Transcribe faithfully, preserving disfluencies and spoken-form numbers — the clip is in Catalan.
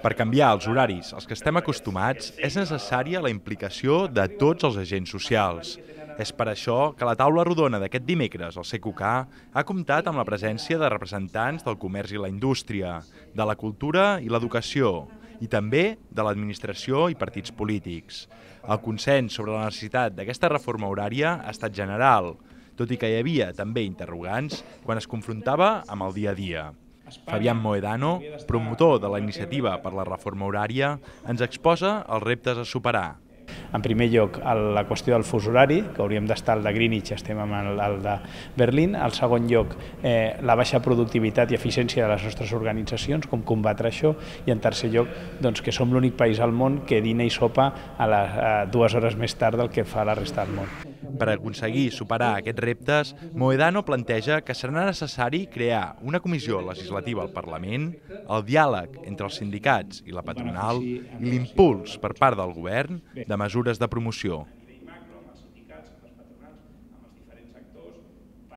Per canviar els horaris als que estem acostumats, és necessària la implicació de tots els agents socials. És per això que la taula rodona d'aquest dimecres al C Q K ha comptat amb la presència de representants del comerç i la indústria, de la cultura i l'educació, i també de l'administració i partits polítics. El consens sobre la necessitat d'aquesta reforma horària ha estat general, tot i que hi havia també interrogants quan es confrontava amb el dia a dia. Fabián Mohedano, promotor de la iniciativa per la reforma horària, ens exposa els reptes a superar. En primer lloc, la qüestió del fus horari, que hauríem d'estar al de Greenwich, estem amb el de Berlín. En segon lloc, eh, la baixa productivitat i eficiència de les nostres organitzacions, com combatre això. I en tercer lloc, doncs, que som l'únic país al món que dina i sopa a, les, a dues hores més tard del que fa la resta del món. Per aconseguir superar aquests reptes, Mohedano planteja que serà necessari crear una comissió legislativa al Parlament, el diàleg entre els sindicats i la patronal i l'impuls per part del govern de mesures de promoció.